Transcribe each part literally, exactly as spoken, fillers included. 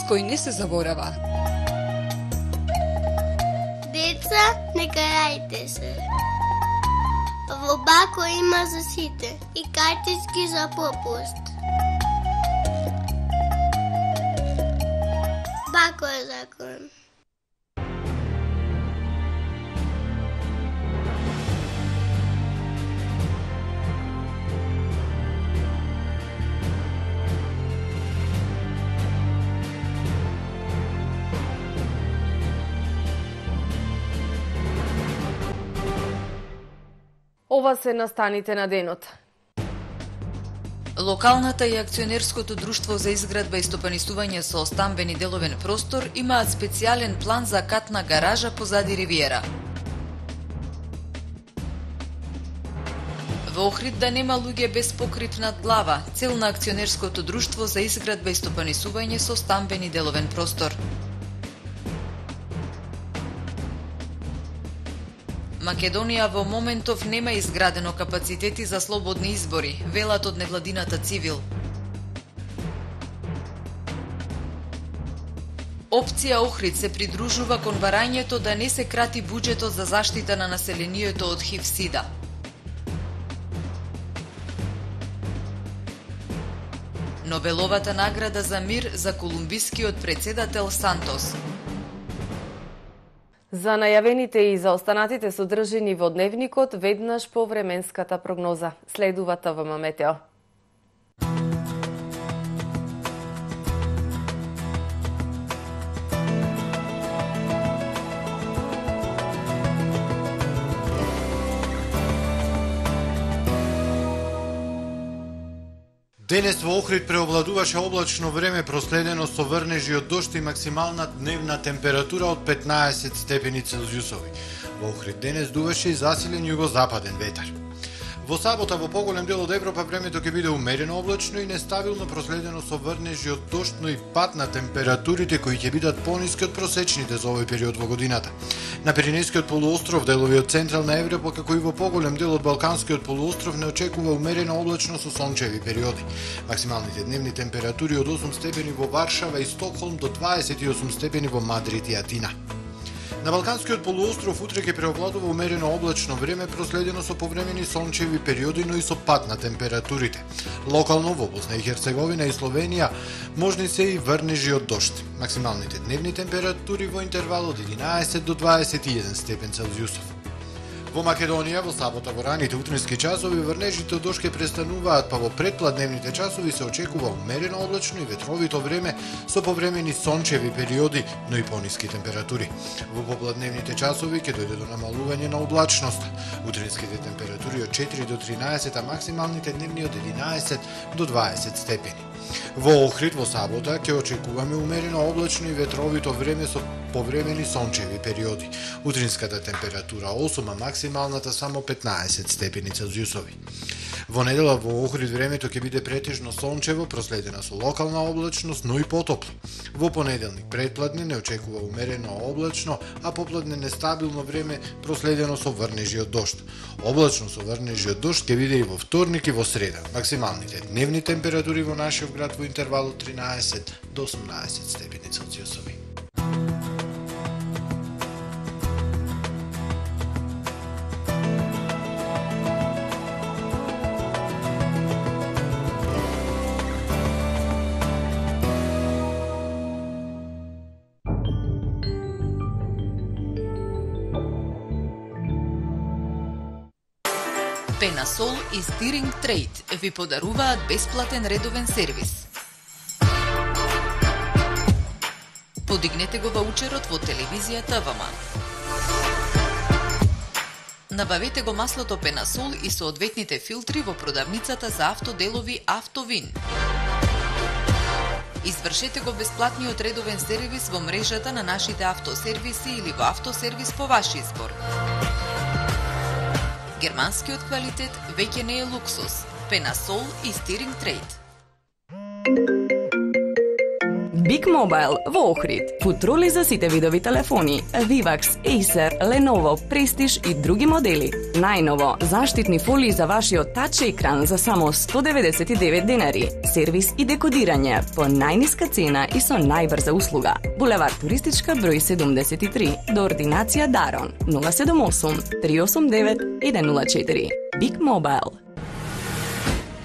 кој не се заборава. Деца, не карајте се. Во Бако има за сите и картички за попуст. Бако е закон. Ова се настаните на денот. Локалната и акционерското друштво за изградба и стопанисување со стамбени деловен простор имаат специјален план за катна гаража позади ривиера. Во Охрид да нема луѓе без покрив над глава, цел на акционерското друштво за изградба и стопанисување со стамбени деловен простор. Македонија во моментов нема изградено капацитети за слободни избори, велат од невладината Цивил. Опција Охрид се придружува кон барањето да не се крати буџетот за заштита на населението од ХИВ-СИДА. Нобеловата награда за мир за колумбискиот претседател Сантос. За најавените и за останатите содржини во дневникот, веднаш по временската прогноза. Следува ТВМ Метео. Денес во Охрид преовладуваше облачно време проследено со врнежи од дожд и максимална дневна температура од петнаесет степени Целзиусови. Во Охрид денес дуваше и засилен југозападен ветар. Во сабота во поголем дел од Европа времето ќе биде умерено облачно и нестабилно проследено со врнежи од дожд, но и пад на температурите кои ќе бидат пониски од просечните за овој период во годината. На Пиренејскиот полуостров, делови од Централна Европа, како и во поголем дел од Балканскиот полуостров не очекува умерено облачно со сончеви периоди. Максималните дневни температури од осум степени во Варшава и Стокхолм до дваесет и осум степени во Мадрид и Атина. На Балканскиот полуостров утре ќе преовладува умерено облачно време проследено со повремени сончеви периоди, но и со пад на температурите. Локално во Босна и Херцеговина и Словенија можни се и врнежи од дожд. Максималните дневни температури во интервал од единаесет до дваесет и еден степен Целзиусов. Во Македонија во сабота во раните утрински часови врнежите од дожд ќе престануваат, па во предпладневните часови се очекува умерено облачно и ветровито време со повремени сончеви периоди, но и пониски температури. Во попладневните часови ќе дојде до намалување на облачноста. Утринските температури од четири до тринаесет, а максималните дневни од единаесет до дваесет степени. Во Охрид во сабота ќе очекуваме умерено облачно и ветровито време со повремени сончеви периоди. Утринската температура осум, а максималната само петнаесет степени Целзиусови. Во недела во Охрид времето ќе биде претежно сончево, проследена со локална облачност, но и потопло. Во понеделник предпладне не очекува умерено облачно, а попладне нестабилно време проследено со врнежи од дожд. Облачно со врнежи од дожд ќе биде и во вторник и во среда. Максималните дневни температури во нашиот град во интервал од тринаесет до осумнаесет степени Целзиусови. Пенасол и Стиринг Трейд ви подаруваат бесплатен редовен сервис. Подигнете го ваучерот во телевизија ТВМ. Набавете го маслото Пенасол и соодветните филтри во продавницата за автоделови Автовин. Извршете го бесплатниот редовен сервис во мрежата на нашите автосервиси или во автосервис по ваш избор. Германскиот квалитет веќе не е луксус. Пенасол и Стиринг Трейд. Big Mobile во Охрид. Футроли за сите видови телефони, Vivax, Acer, Lenovo, Prestige и други модели. Најново, заштитни фолии за вашиот тач екран за само сто деветдесет и девет денари. Сервис и декодирање по најниска цена и со најбрза услуга. Булевар Туристичка број седумдесет и три, до ординација Дарон нула седум осум три осум девет еден нула четири. Big Mobile.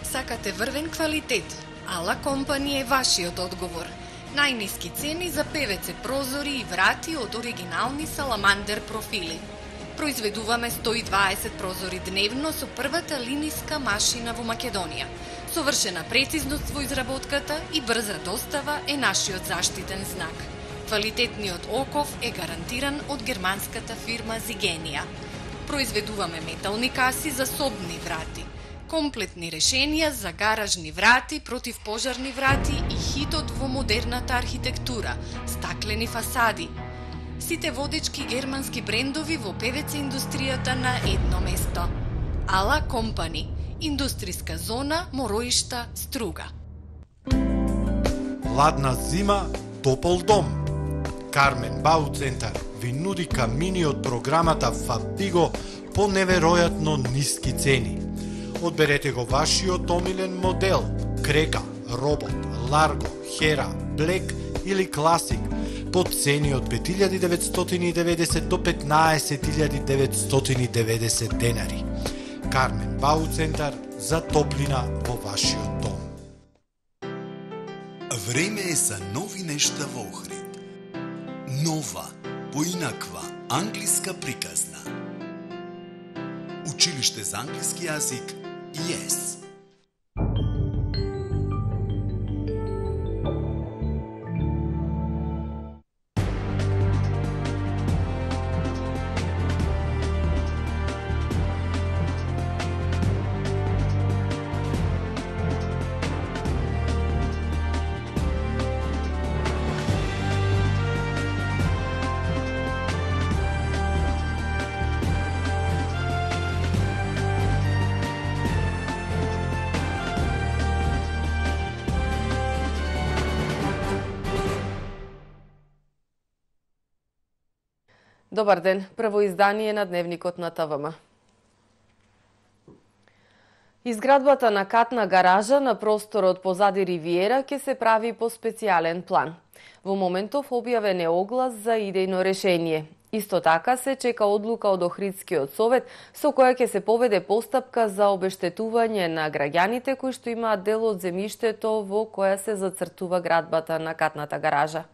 Сакате врвен квалитет? Ала Компани е вашиот одговор. Најниски цени за певеце прозори и врати од оригинални Саламандер профили. Произведуваме сто и дваесет прозори дневно со првата линиска машина во Македонија. Совршена прецизност во изработката и брза достава е нашиот заштитен знак. Квалитетниот оков е гарантиран од германската фирма Зигенија. Произведуваме метални каси за собни врати, комплетни решенија за гаражни врати, противпожарни врати и хитот во модерната архитектура, стаклени фасади. Сите водечки германски брендови во ПВЦ индустријата на едно место. Ала Компани, индустријска зона Мороишта, Струга. Ладна зима, топол дом. Кармен Бау Центар ви нуди камини од програмата Фабиго по неверојатно ниски цени. Одберете го вашиот омилен модел, Крека, Робот, Ларго, Хера, Блек или Класик по цени од пет илјади деветстотини и деветдесет до петнаесет илјади деветстотини и деветдесет денари. Кармен Бау Центар за топлина во вашиот дом. Време е за нови нешта во Охрид. Нова, поинаква, англиска приказна. Училиште за англиски јазик ес. Добар ден, прво издание на Дневникот на ТВМ. Изградбата на катна гаража на просторот позади Ривиера ќе се прави по специјален план. Во моментов објавен е оглас за идејно решение. Исто така се чека одлука од Охридскиот совет со која ќе се поведе постапка за обештетување на граѓаните кои што имаат дел од земјиштето во која се зацртува градбата на катната гаража.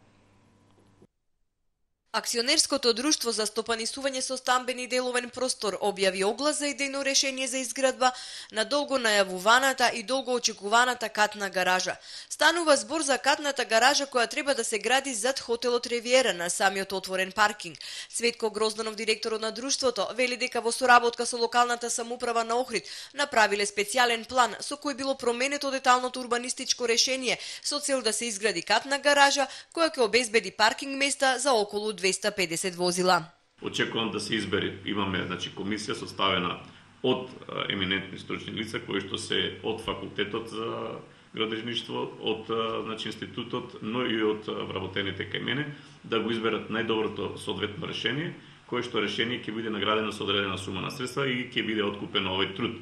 Акционерското друштво за стопанисување со стамбени деловен простор објави оглас за идејно решение за изградба на долго најавуваната и долго очекуваната катна гаража. Станува збор за катната гаража која треба да се гради зад хотелот Ривиера на самиот отворен паркинг. Светко Грозданов, директорот на друштвото, вели дека во соработка со локалната самоуправа на Охрид направиле специјален план со кој било променето деталното урбанистичко решение со цел да се изгради катна гаража која ќе обезбеди паркинг места за околу двеста и педесет возила. Очекувам да се избери. Имаме значи комисија составена од еминентни стручни лица кои што се од факултетот за градежништво, од значи институтот, но и од вработените кај мене да го изберат најдоброто соодветно решение, кое што решение ќе биде наградено со одредена сума на средства и ќе биде откупен овој труд.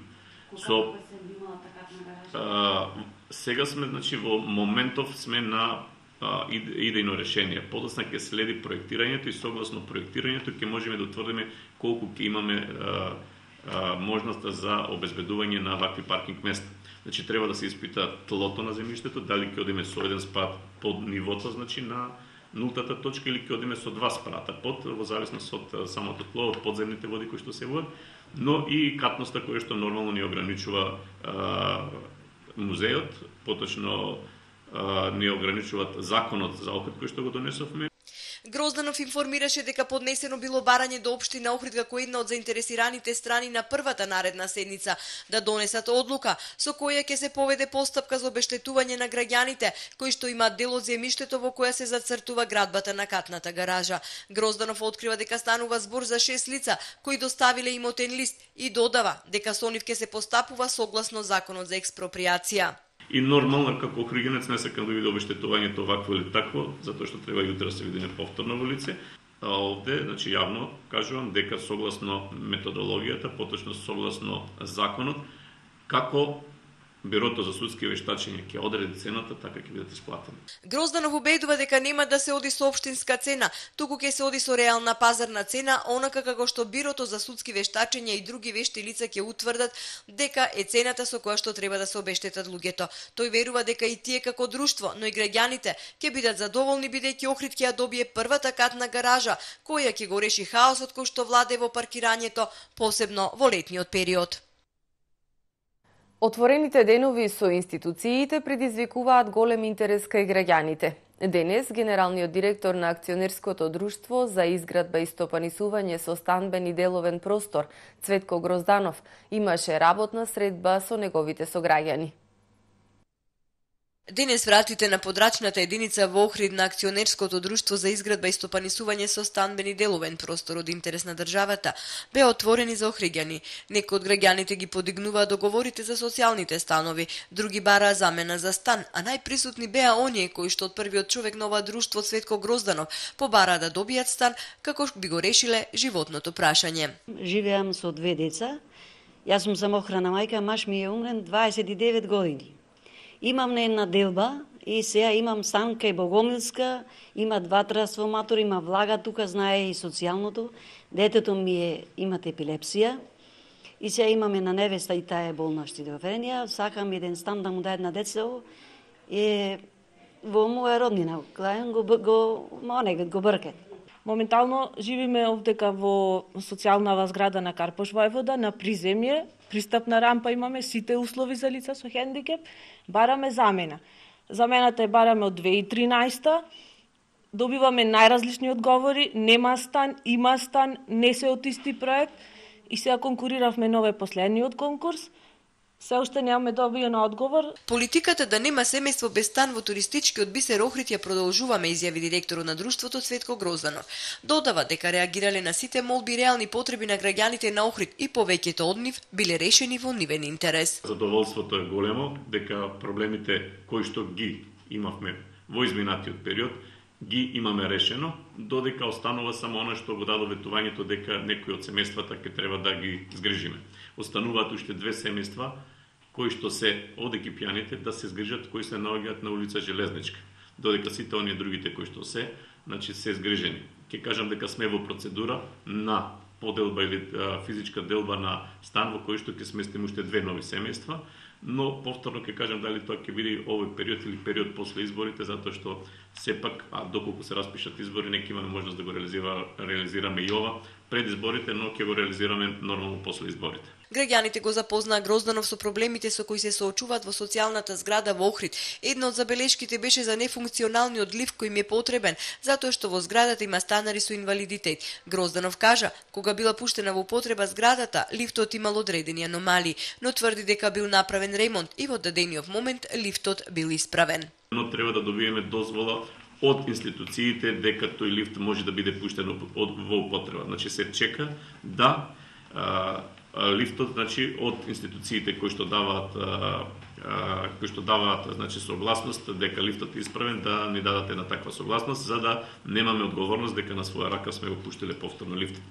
Со а, сега сме значи во моментов сме на идејно решение. Подоцна ќе следи проектирањето и согласно проектирањето ќе можеме да утврдиме колку ќе имаме а, а, можноста за обезбедување на вакви паркинг места. Значи треба да се испита тлото на земјиштето, дали ќе одиме со еден спрат под нивото, значи на нултата точка или ќе одиме со два спрата под, во зависност од самото тло, од подземните води кои што се водат, но и катноста која што нормално ни ограничува а, музеот, поточно не ограничуваат законот за Охрид кој што го донесовме. Грозданов информираше дека поднесено било барање до општина Охрид како една од заинтересираните страни на првата наредна седница да донесат одлука со која ќе се поведе постапка за обештетување на граѓаните кои што имаат дел од земјиштето во која се зацртува градбата на катната гаража. Грозданов открива дека станува збор за шест лица кои доставиле имотен лист и додава дека со нив ќе се постапува согласно законот за експроприација. И нормално како охриденец не сакам да види обештетувањето вакво или такво, затоа што треба јутре да се видиме повторно во лице. А овде, значи јавно кажувам дека согласно методологијата, поточно согласно законот, како Бирото за судски вештачење ќе одреди цената, така ќе бидат исплатени. Грозданов убедува дека нема да се оди со општинска цена, туку ќе се оди со реална пазарна цена, онака како што Бирото за судски вештачења и други вешти лица ќе утврдат дека е цената со која што треба да се обештетат луѓето. Тој верува дека и тие како друштво, но и граѓаните ќе бидат задоволни бидејќи Охрид ќе ја добие првата катна гаража, која ќе го реши хаосот кој што владе во паркирањето, посебно во летниот период. Отворените денови со институциите предизвикуваат голем интерес кај граѓаните. Денес, генералниот директор на акционерското друштво за изградба и стопанисување со станбен и деловен простор, Цветко Грозданов, имаше работна средба со неговите сограѓани. Денес вратите на подрачната единица во Охрид на акционерското друштво за изградба и стопанисување со станбен и деловен простор од интерес на државата беа отворени за охриѓани. Некои од граѓаните ги подигнуваа договорите за социјалните станови, други бараа замена за стан, а најприсутни беа оние кои што од првиот човек на ова друштво Цветко Грозданов побараа да добијат стан како би го решиле животното прашање. Живеам со две деца. Јас сум самохрана мајка, маж ми е умрен дваесет и девет години. Имам на една делба и сега имам стан кај Богомилска, има два трансформатори, има влага тука, знае и социјалното. Детето ми е, имат епилепсија и сега имаме на невеста и таа е болна шизофренија. Сакам еден стан да му даде на децето е во моја роднина, го го монегат го бркет. Моментално живиме овдека во социјална зграда на Карпош Војвода, на приземје, пристапна рампа имаме, сите услови за лица со хендикеп, бараме замена. Замената е бараме од две илјади и тринаесета, добиваме најразлични одговори, нема стан, има стан, не се од исти проект и сега конкуриравме нове последниот конкурс. Се уште немаме добиен одговор. Политиката да нема семејство без стан во туристичкиот бисер Охрид ја продолжуваме, изјави директорот на друштвото Цветко Грозданов. Додава дека реагирале на сите молби и реални потреби на граѓаните на Охрид и повеќето од нив биле решени во нивен интерес. Задоволството е големо дека проблемите кои што ги имавме во изминатиот период ги имаме решено, додека останува само она што го дадо ветувањето дека некои од семејствата ќе треба да ги згрижиме. Остануваат уште две семејства кои што се од екипјаните да се згрижат, кои се наоѓаат на улица Железничка, додека сите оние другите кои што се, значи се згрижени. Ќе кажам дека сме во процедура на поделба или а, физичка делба на стан во кој што ќе сместиме уште две нови семејства, но повторно ќе кажам дали тоа ќе биде овој период или период после изборите, затоа што сепак, а доколку се распишат избори, нека имаме можност да го реализира, реализираме и ова пред изборите, но ќе го реализираме нормално после изборите. Граѓаните го запознаа Грозданов со проблемите со кои се соочуваат во социјалната зграда во Охрид. Една од забелешките беше за нефункционалниот лифт кој им е потребен, затоа што во зградата има станари со инвалидитет. Грозданов кажа, кога била пуштена во употреба зградата, лифтот имал одредени аномалии, но тврди дека бил направен ремонт и во дадениот момент лифтот бил исправен. Но треба да добиеме дозвола од институциите дека тој лифт може да биде пуштен во употреба. Значи се чека да а, лифтот, значи од институциите кои што даваат а, а, кои што даваат значи согласност дека лифтот е исправен, да ни дадат една таква согласност за да немаме одговорност дека на своја рака сме го пуштиле повторно лифтот.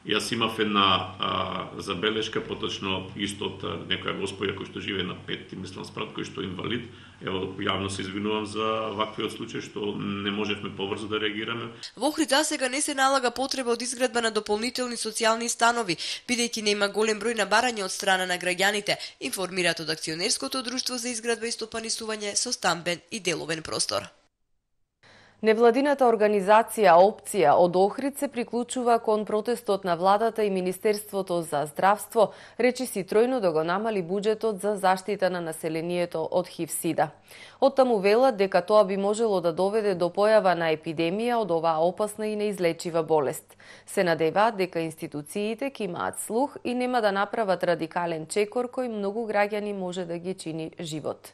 Јас имав една а, забелешка, поточно исто од некоја господја кој што живее на петти, мислам спрат, кој што е инвалид. Ево, јавно се извинувам за ваквиот случај што не можевме побрзо да реагираме. Во Охрид сега не се налага потреба од изградба на дополнителни социјални станови, бидејќи нема голем број на барања од страна на граѓаните, информираат од акционерското друштво за изградба и стопанисување со станбен и деловен простор. Невладината организација Опција од Охрид се приклучува кон протестот на владата и Министерството за здравство, речиси тројно да го намали буџетот за заштита на населението од ХИВ-сида. Оттаму велат дека тоа би можело да доведе до појава на епидемија од оваа опасна и неизлечива болест. Се надеваат дека институциите ќе имаат слух и нема да направат радикален чекор кој многу граѓани може да ги чини живот.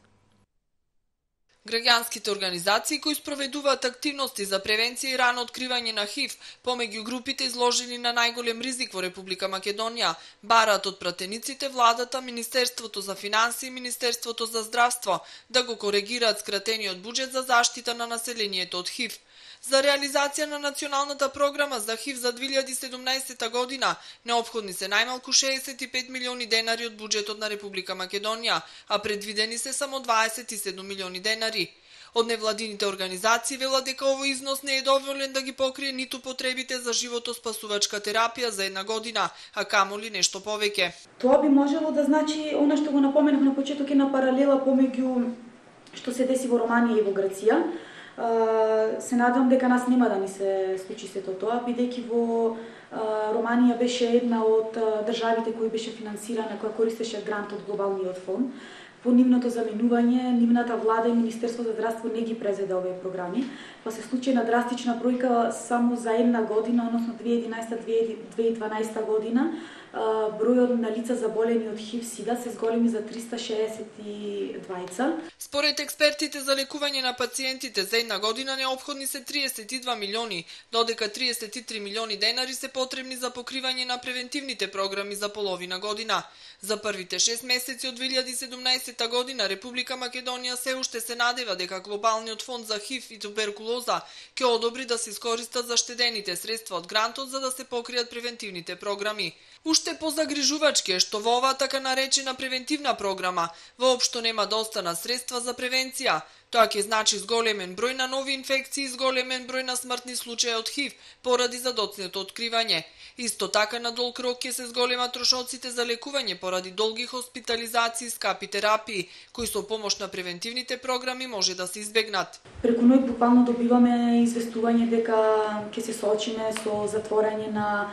Граѓанските организации кои спроведуваат активности за превенција и рано откривање на ХИВ, помеѓу групите изложени на најголем ризик во Република Македонија, бараат од пратениците владата, Министерството за финансии и Министерството за здравство да го коригираат скратениот буџет за заштита на населението од ХИВ. За реализација на националната програма за ХИВ за две илјади и седумнаесета година неопходни се најмалку шеесет и пет милиони денари од буџетот на Република Македонија, а предвидени се само дваесет и седум милиони денари. Од невладините организации велат дека овој износ не е доволен да ги покрие ниту потребите за животоспасувачка терапија за една година, а камоли нешто повеќе. Тоа би можело да значи она што го напоменав на почеток, една паралела помеѓу што се деси во Романија и во Грција. Се надевам дека нас нема да ни се случи сето тоа, бидејќи во Романија беше една од државите кои беше финансирана, која користеше грант од глобалниот фонд. По нивното заменување, нивната влада и Министерство за здравство не ги презеде овие програми, па се случи една драстична бројка само за една година, односно две илјади и единаесета - две илјади и дванаесета година, бројот на лица заболени од ХИВ-СИДА се зголеми за триста шеесет и двајца. Според експертите за лекување на пациентите за една година неопходни се триесет и два милиони, додека триесет и три милиони денари се потребни за покривање на превентивните програми за половина година. За првите шест месеци од две илјади и седумнаесета година Република Македонија се уште се надева дека глобалниот фонд за ХИВ и туберкулоза ќе одобри да се искористат заштедените средства од грантот за да се покријат превентивните програми. Уште позагрижувачки е што во оваа така наречена превентивна програма воопшто нема достана средства за превенција. Тоа ќе значи зголемен број на нови инфекции и зголемен број на смртни случаи од ХИВ поради задоцнето откривање. Исто така на долг рок ќе се зголемат трошоците за лекување поради долги хоспитализации и скапи терапии, кои со помош на превентивните програми може да се избегнат. Преку ној буквално добиваме известување дека ќе се соочиме со затворање на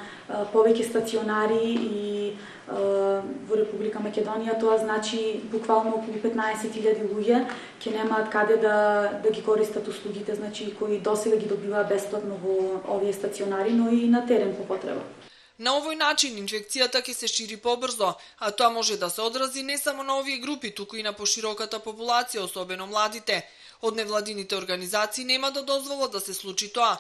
повеќе стационари и во Република Македонија. Тоа значи буквално околу петнаесет илјади луѓе ќе немаат каде да да ги користат услугите, значи кои досега ги добиваа бесплатно во овие стационари, но и на терен по потреба. На овој начин инфекцијата ќе се шири побрзо, а тоа може да се одрази не само на овие групи, туку и на пошироката популација, особено младите. Од невладините организации нема да дозволат да се случи тоа.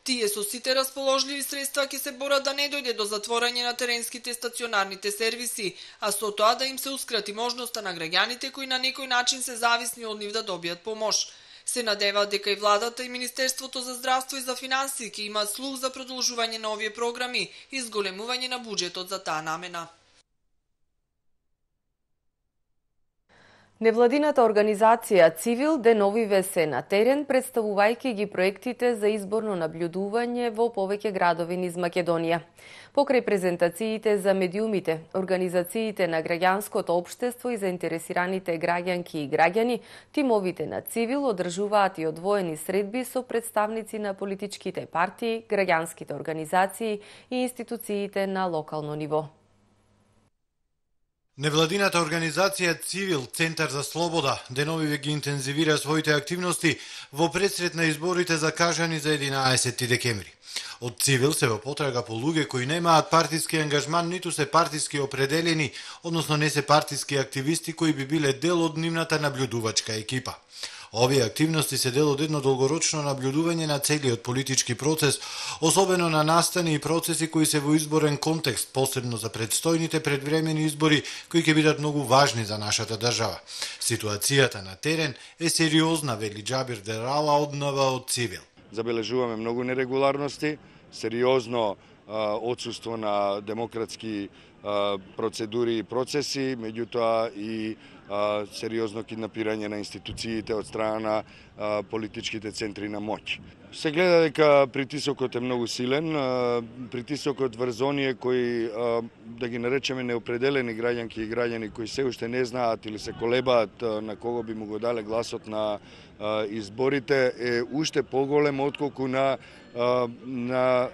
Тие со сите расположливи средства ќе се борат да не дојде до затворање на теренските стационарните сервиси, а со тоа да им се ускрати можноста на граѓаните кои на некој начин се зависни од нив да добијат помош. Се надеваат дека и владата и Министерството за здравство и за финансии ќе имаат слух за продолжување на овие програми и зголемување на буџетот за таа намена. Невладината организација Цивил деновиве се на терен, представувајќи ги проектите за изборно наблюдување во повеќе градови низ Македонија. Покрај презентациите за медиумите, организациите на граѓанското општество и заинтересираните граѓанки и граѓани, тимовите на Цивил одржуваат и одвоени средби со представници на политичките партии, граѓанските организации и институциите на локално ниво. Невладината организација Цивил, Центар за слобода, деновиве ги интензивира своите активности во предсред на изборите закажани за единаесети декември. Од Цивил се во потрага по луѓе кои немаат партиски ангажман, ниту се партиски определени, односно не се партиски активисти кои би биле дел од нивната наблюдувачка екипа. Овие активности се дел од едно долгорочно наблюдување на целиот политички процес, особено на настани и процеси кои се во изборен контекст, посебно за предстојните предвремени избори кои ќе бидат многу важни за нашата држава. Ситуацијата на терен е сериозна, вели Џабир Дерала од НВ од Цивил. Забележуваме многу нерегуларности, сериозно отсуство на демократски процедури и процеси, меѓутоа и сериозно киднапирање на институциите од страна на политичките центри на моќ. Се гледа дека притисокот е многу силен, притисокот врз оние кои, да ги наречеме неопределени граѓанки и граѓани кои се уште не знаат или се колебаат на кого би му го дале гласот на изборите, е уште поголем отколку на на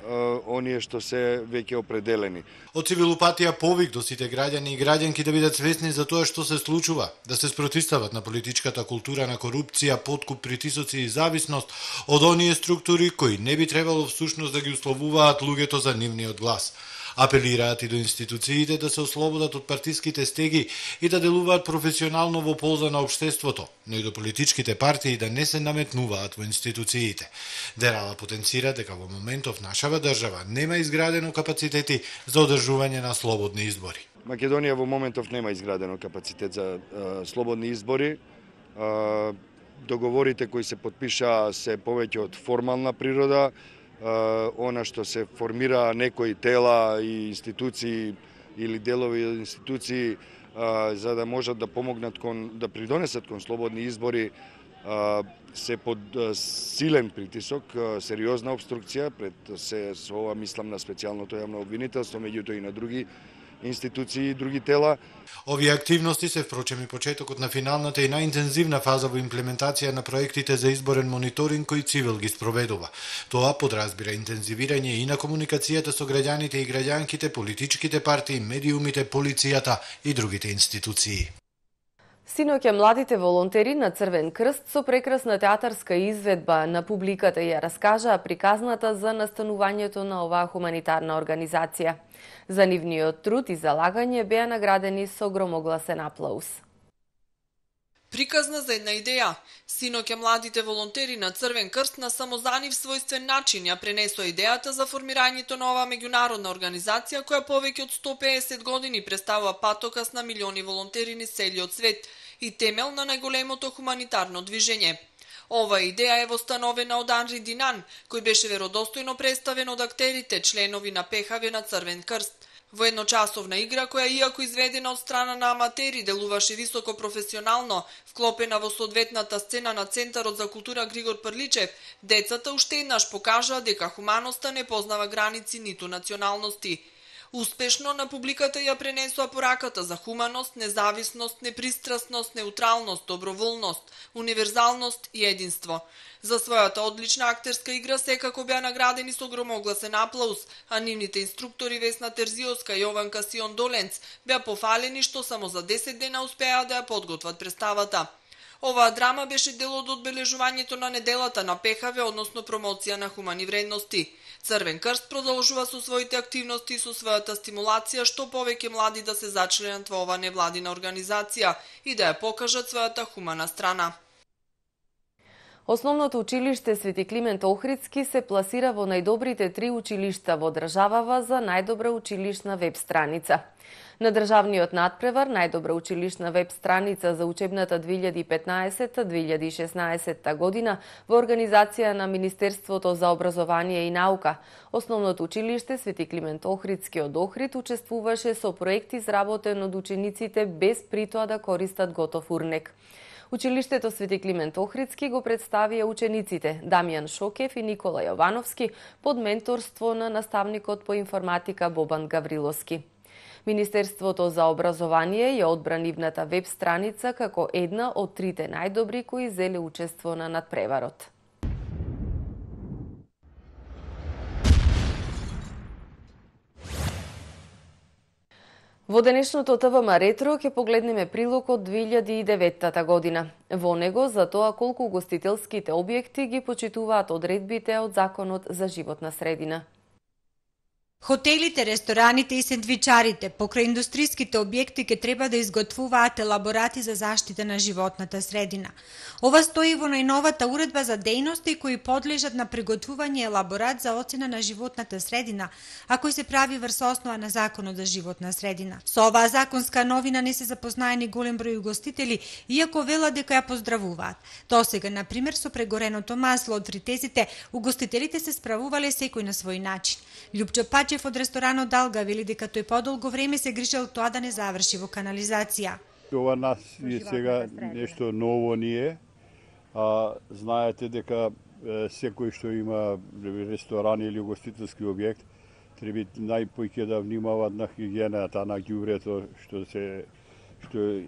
оние што се веќе определени. Од Цивилупатија повик до сите граѓани и граѓанки да бидат свесни за тоа што се случува, да се спротистават на политичката култура на корупција, подкуп, притисоци и зависност од оние структури кои не би требало всушност да ги условуваат луѓето за нивниот глас. Апелираат и до институциите да се ослободат од партиските стеги и да делуваат професионално во полза на општеството, но и до политичките партии да не се наметнуваат во институциите. Дерала потенцира дека во моментов нашава држава нема изградено капацитети за одржување на слободни избори. Македонија во моментов нема изградено капацитет за а, слободни избори. А, договорите кои се подпиша се повеќе од формална природа. А, она што се формира некои тела и институции или делови од институции а, за да можат да помогнат кон да придонесат кон слободни избори, а, се под а, силен притисок, а, сериозна обструкција пред се со ова мислам на специјалното јавно обвинителство, меѓутоа и на други институции и други тела. Овие активности се впрочем и почетокот на финалната и најинтензивна фаза во имплементација на проектите за изборен мониторинг кои Цивил ги спроведува. Тоа подразбира интензивирање и на комуникацијата со граѓаните и граѓанките, политичките партии, медиумите, полицијата и другите институции. Синоќа младите волонтери на Црвен крст со прекрасна театарска изведба на публиката ја раскажаа приказната за настанувањето на оваа хуманитарна организација. За нивниот труд и залагање беа наградени со громогласен аплауз. Приказна за една идеја. Синоќа младите волонтери на Црвен крст на самозанив својствен начин ја пренесоа идејата за формирањето на оваа меѓународна организација која повеќе од сто педесет години представува патокас на милиони волонтери низ целиот свет и темел на најголемото хуманитарно движење. Ова идеја е востановена од Анри Динан, кој беше веродостојно представен од актерите, членови на ПХВ на Црвен крст. Во едночасовна игра, која иако изведена од страна на аматери, делуваше високо професионално, вклопена во соодветната сцена на Центарот за култура Григор Прличев, децата уште еднаш покажаа дека хуманоста не познава граници ниту националности. Успешно на публиката ја пренесоа пораката за хуманост, независност, непристрасност, неутралност, доброволност, универзалност и единство. За својата одлична актерска игра секако беа наградени со громогласен аплауз, а нивните инструктори Весна Терзиовска и Јован Касион Доленц беа пофалени што само за десет дена успеа да ја подготват представата. Оваа драма беше дел од одбележувањето на неделата на ПХВ, односно промоција на хумани вредности. Црвен крст продолжува со своите активности и со својата стимулација што повеќе млади да се зачленат во оваа невладина организација и да ја покажат својата хумана страна. Основното училиште Свети Климент Охридски се пласира во најдобрите три училишта во државава за најдобра училишна веб страница. На државниот надпревар најдобра училишна веб страница за учебната две илјади и петнаесетта две илјади и шеснаесетта година во организација на Министерството за образование и наука. Основното училиште Свети Климент Охридски од Охрид учествуваше со проект изработен од учениците без притоа да користат готов урнек. Училиштето Свети Климент Охридски го представија учениците Дамјан Шокев и Никола Јовановски под менторство на наставникот по информатика Бобан Гавриловски. Министерството за образование ја одбра нивната веб страница како една од трите најдобри кои зеле учество на надпреварот. Во денешното ТВМ Ретро ќе погледнеме прилог од две илјади и деветта година. Во него за тоа колку гостителските објекти ги почитуваат одредбите од Законот за животна средина. Хотелите, рестораните и сендвичарите покрај индустриските објекти ќе треба да изготвуваат елаборати за заштита на животната средина. Ова стои во најновата уредба за дејности кои подлежат на приготвување елаборат за оцена на животната средина, а кој се прави врз основа на Законот за животна средина. Со оваа законска новина не се запознаени голем број угостители, иако велат дека ја поздравуваат. Досега, на пример, со прегореното масло од фритезите, угостителите се справувале секој на свој начин. Љупчо Пачев од ресторанот Далга вели дека тој подолго време се грижел тоа да не заврши во канализација. Ова нас е сега нешто ново ние. А, знаете дека е, секој што има ресторан или угостителски објект треба најпоќе да внимават на хигиената, на ѓубрето што се што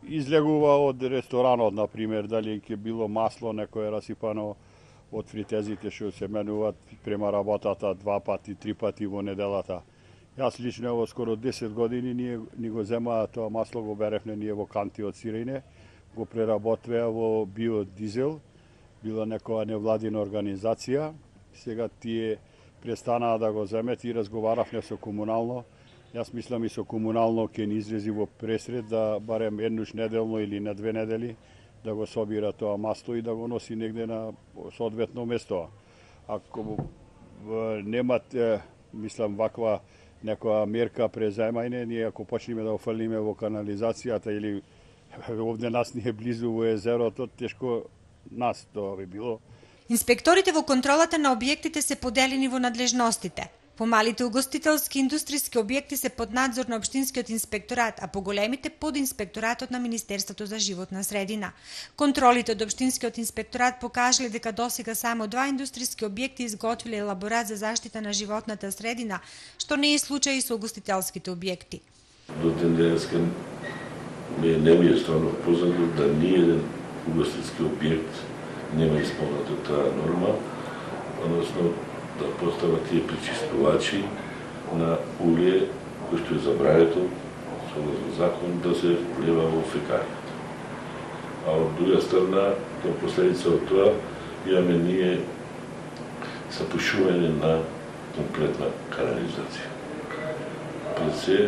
излегува од ресторанот, на пример, дали ќе било масло некое расипано од фритезите што се менуваат према работата два пати, три пати во неделата. Јас лично во скоро десет години ние ни го земаа тоа масло, го беревме ние во канти од сирење, го преработваа во биодизел, била некоја невладина организација. Сега тие престанаа да го земет и разговаравме со комунално. Јас мислам и со комунално ќе ни излези во пресред да барем еднуш неделно или на две недели да го собира тоа масто и да го носи негде на соодветно место. Ако немат, мислам, ваква некоја мерка презаемање, ние ако почнеме да офрлиме во канализацијата или овде нас ни е близу во езерото, тешко нас тоа би било. Инспекторите во контролата на објектите се поделени во надлежностите. Помалите угостителски индустријски објекти се под надзор на Општинскиот инспекторат, а поголемите под инспекторатот на Министерството за животна средина. Контролите од Општинскиот инспекторат покажале дека досега само два индустријски објекти изготвиле елаборат за заштита на животната средина, што не е случај и со угостителските објекти. До ден денеска ми не ми е стварно познато да ниеден угостителски објект нема исполнета таа норма, односно да постават тие пречистувачи на улие кој што е забрането согласно закон да се влева во фекалијата. А од друга страна, како последица од тоа, имаме ние запушување на комплетна канализација. Пред се,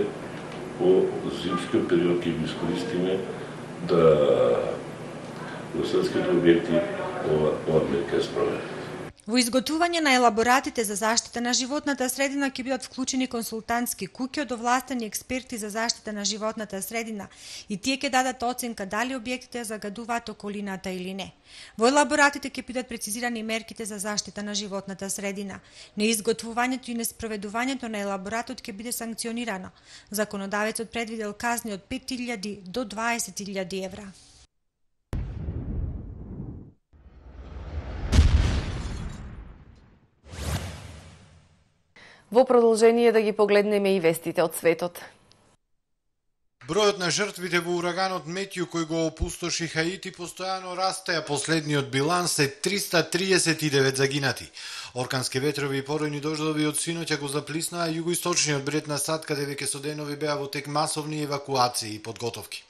во зимскиот период ќе го искористиме да угостителските објекти ова, ова мерка е спроведена. Во изготвување на елаборатите за заштита на животната средина ќе бидат вклучени консултантски куќи од овластени експерти за заштита на животната средина и тие ќе дадат оценка дали објектите загадуваат околината или не. Во елаборатите ќе бидат прецизирани мерките за заштита на животната средина. Неизготвувањето и неспроведувањето на елаборатот ќе биде санкционирано. Законодавецот предвидел казни од пет илјади до дваесет илјади евра. Во продолжение да ги погледнеме и вестите од светот. Бројот на жртвите во ураганот Метју кој го опустоши Хаити постојано расте, а последниот биланс е триста триесет и девет загинати. Оркански ветрови и поројни дождови од синоќа го заплиснаа југоисточниот бред на САД, каде веќе со денови беа во тек масовни евакуации и подготовки.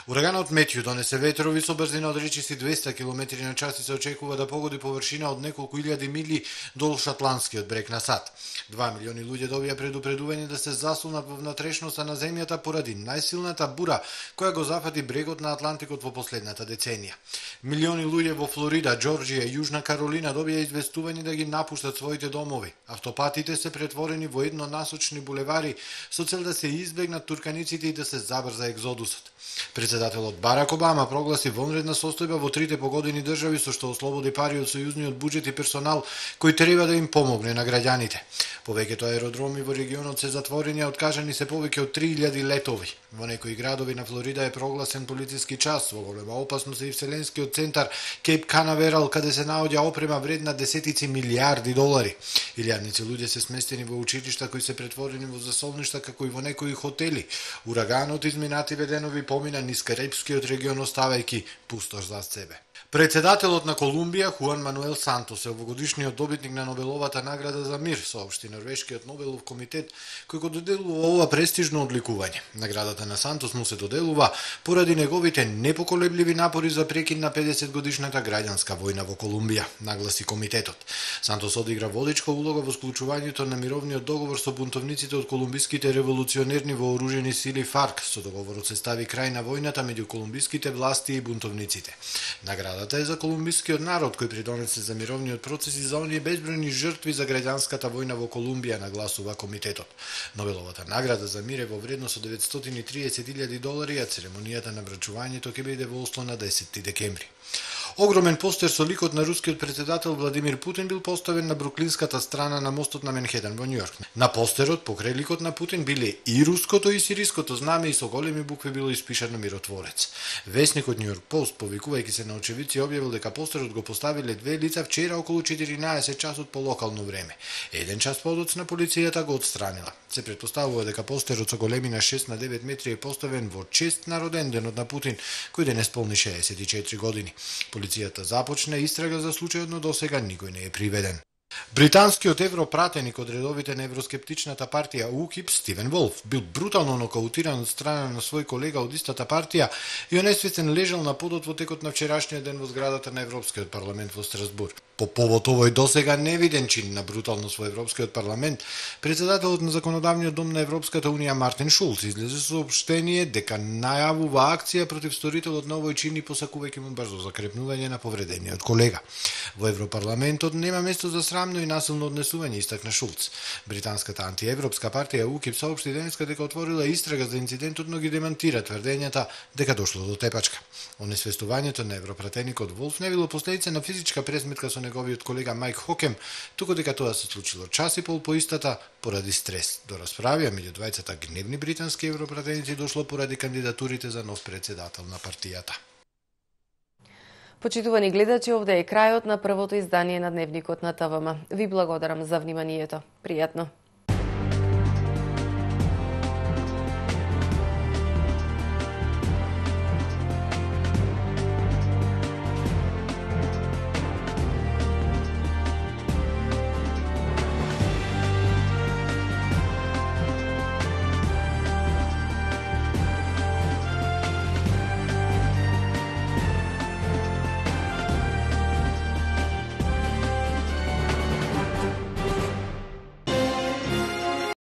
Ураганот Метју донесе ветрови со брзина од речиси двеста километри на час и се очекува да погоди површина од неколку илјади мили долж Атлантскиот брег на САД. Два милиони луѓе добија предупредување да се засулнат во внатрешноста на земјата поради најсилната бура која го зафати брегот на Атлантикот во последната деценија. Милиони луѓе во Флорида, Џорџија и Јужна Каролина добија известување да ги напуштат своите домови. Автопатите се претворени во еднонасочни булевари со цел да се избегнат турканиците и да се забрза екзодусот. Председателот Барак Обама прогласи вонредна состојба во трите погодени држави со што ослободи пари од сојузниот буџет и персонал кој треба да им помогне на граѓаните. Повеќето аеродроми во регионот се затворени, а откажани се повеќе од три илјади летови. Во некои градови на Флорида е прогласен полициски час, во голема опасност е и вселенскиот центар Кейп Канаверал, каде се наоѓа опрема вредна десетици милијарди долари. Илјадници луѓе се сместени во училишта кои се претворени во засолништа, како и во некои хотели. Ураганот изминативе денови помина низ Карипскиот регион, оставајќи пустош зад себе. Председателот на Колумбија, Хуан Мануел Сантос, е овогодишниот добитник на Нобеловата награда за мир, соопшти Норвешкиот Нобелов комитет, кој го доделува ова престижно одликување. Наградата на Сантос му се доделува поради неговите непоколебливи напори за прекин на педесет годишната граѓанска војна во Колумбија, нагласи комитетот. Сантос одигра водичка улога во склучувањето на мировниот договор со бунтовниците од колумбиските револуционерни вооружени сили ФАРК. Со договорот се стави крај на војната меѓу колумбиските власти и бунтовниците. Наградата е за колумбискиот народ кој придонесе за мировниот процес и за оние безбројни жртви за граѓанската војна во Колумбија, нагласува комитетот. Нобеловата награда за мир е во вредност од деветстотини и триесет илјади долари, а церемонијата на врачувањето ќе биде во Осло на десети декември. Огромен постер со ликот на рускиот председател Владимир Путин бил поставен на бруклинската страна на мостот на Менхетен во Њујорк. На постерот покрај ликот на Путин биле и руското и сириското знаме и со големи букви било испишано миротворец. Весникот Њујорк Пост, повикувајќи се на очевидци, објавил дека постерот го поставиле две лица вчера околу четиринаесет часот по локално време. Еден час подоцна полицијата го отстранила. Се претпоставува дека постерот со големина шест на девет метри е поставен во чест на роден денот на Путин, кој денес полни шеесет и четири години. Полицијата започна истрага за случајот, но досега никој не е приведен. Британскиот европратеник од редовите на евроскептичната партија УКИП Стивен Волф бил брутално нокаутиран од страна на свој колега од истата партија и онесвестен лежал на подот во текот на вчерашниот ден во зградата на Европскиот парламент во Страсбург. По повод овој досега невиден чин на бруталност во Европскиот парламент, председателот на Законодавниот дом на Европската унија Мартин Шулц излезе соопштение дека најавува акција против сторителот на овој чин и посакувајќи му брзо закрепнување на повредениот колега. Во Европарламентот нема место за срамно и насилно однесување, истакна Шулц. Британската антиевропска партија УКИП соопшти денеска дека отворила истрага за инцидентот, но ги демантира тврдењата дека дошло до тепачка. Онесвестувањето на европратеникот Волф не било последица на физичка пресметка со неговиот колега Мајк Хокем, туку дека тоа се случило час и пол по истата поради стрес. До расправија меѓу двајцата гневни британски европратеници дошло поради кандидатурите за нов председател на партијата. Почитувани гледачи, овде е крајот на првото издание на Дневникот на ТВМ. Ви благодарам за вниманието. Пријатно.